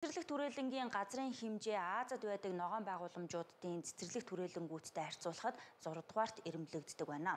Цэцэрлэг түрээлэнгийн газрын хэмжээ Азад байдаг ногоон байгууламжуудын цэцэрлэг түрээлэнгүүдтэй харьцуулахад 6 дугаарт эрэмблэгддэг байна.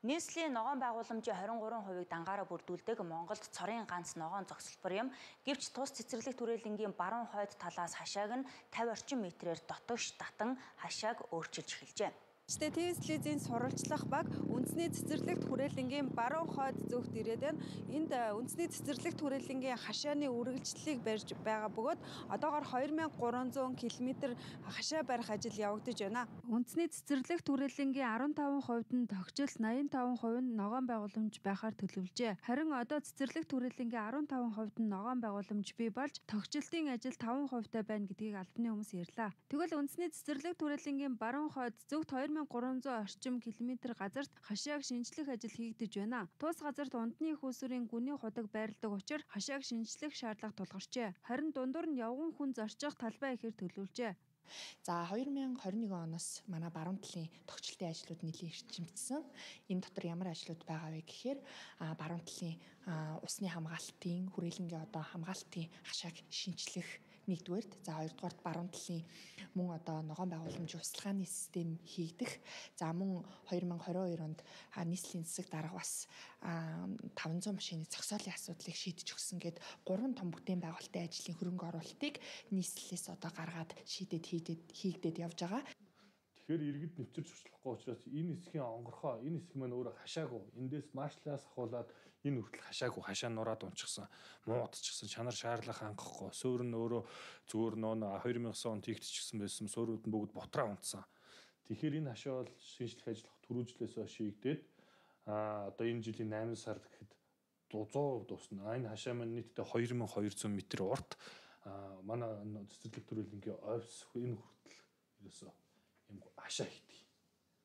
Нийслэлийн ногоон байгууламжийн 23%-ийг дангаараа бүрдүүлдэг Монголд цорын ганц ногоон зогсолбор юм. Гэвч тус цэцэрлэг түрээлэнгийн баруун хойд талаас хашааг нь 50 орчим метрээр дотогш татан хашааг өөрчилж эхэлжээ. ТВ телевизийн сурвалжлах баг үндэсний цэцэрлэгт хүрээлэнгийн баруун хойд зүгт ирээд байна. Энд үндэсний цэцэрлэгт хүрээлэнгийн хашааны үргэлжлэлийг барьж байгаа бөгөөд одоогоор 2300 км хашаа барих ажил явагдаж байна. Үндэсний цэцэрлэгт хүрээлэнгийн 15%-д нь тогтчил, 85% нь ногоон байгууламж байхаар төлөвлөжээ. Харин одоо цэцэрлэгт хүрээлэнгийн 15%-д нь ногоон байгууламж бий болж тогтчлтын ажил 5%-тай байна гэдгийг албаны хүмүүс ярьлаа. Тэгвэл үндэсний цэцэрлэгт хүрээлэнгийн баруун хойд зүгт 2300 орчим километр газарт хашааг шинжлэх ажил хийгдэж байна. Тус газарт унтны их усүрийн гүний худаг байрладаг учраас хашааг шинжлэх шаардлага тулгарчээ. Харин дундуур нь явган хүн зорчих талбай ихээр төлөвлөжээ. За 2021 оноос манай баруун талын тогтчлтын ажлууд нэлийн эрчимжсэн. Энэ дотор ямар ажлууд байгаа вэ гэхээр баруун талын усны хамгаалтын хүрээлэнгийн одоо хамгаалтын хашааг шинжлэх нэгдүгээрт, за хоёрдугаарт баруун талын мөн одоо ногоон байгууламжийн услахааны систем хийгдэх. За мөн 2022 онд нийслэлийн засаг дарга бас 500 машины зогсоолын асуудлыг шийдэж өгсөн гэд 3 том бүтээн байгуулалтын ажлын хөрөнгө оруулалтыг нийслэлээс одоо гаргаад шийдээд хийгдээд явж байгаа. Тэгэхээр иргэд нэвчэрч сурчлахгүй учраас энэ хэсгийн онгорхоо, энэ хэсэг маань өөрөө хашаагүй. Эндээс маршлаас ахуулаад энэ хүртэл хашаагүй, хашаа нураад унчихсан, муудчихсан, чанар шаарлах хангахгүй. Суурь нь өөрөө зүгээр нөө 2009 онд хийгдчихсэн байсан суурьуд нь бүгд бутраа унтсан. Тэгэхээр энэ хашаа бол шинжлэх ажиллах түрүүжлээс шийгдээд одоо энэ жилийн 8 сард гэхэд 100% дуусна. Энэ хашаа маань нийтдээ 2200 м урт. Манай цэцэрлэг түрээлэнгийн офис энэ хүртэл ерөөсөө юм хашаа хийдэг.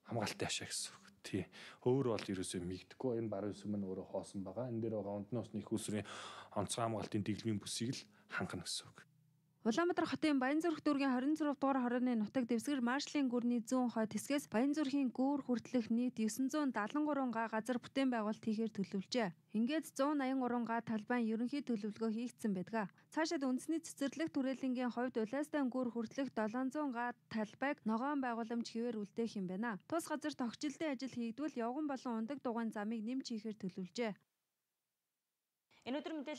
Хамгаалтын хашаа гэсэн үг. Тий. Өөр бол ерөөсөө мигдэхгүй. Энэ баруун хэсэг маань өөрөө хоосон байгаа. Энэ дээр байгаа унтны усны их усрын онцгой хамгаалтын дэглэмийн бүсийг л хангана гэсэн үг. Улаанбаатар хотын Баянзүрх дүүргийн 26 дугаар хорооны нутаг дэвсгэр маршлын гүрний зүүн хойд хэсгээс Баянзүрхийн гүүр хүртэлх нийт 973 га газар бүтээн байгуулалт хийхээр төлөвлөжээ. Ингээд 183 га талбайн ерөнхий төлөвлөгөө хийгдсэн байдаг. Цаашид үндэсний цэцэрлэг түрээлэнгийн хувьд Улаастан гүүр хүртэлх 700 га талбайг ногоон байгууламж хэвээр үлдээх юм байна. Тус газар тогтчлтын ажил хийгдвэл явган болон ундаг дугуйн замыг нэмж хийхээр төлөвлөжээ. Энэ өдөр мэдээлэл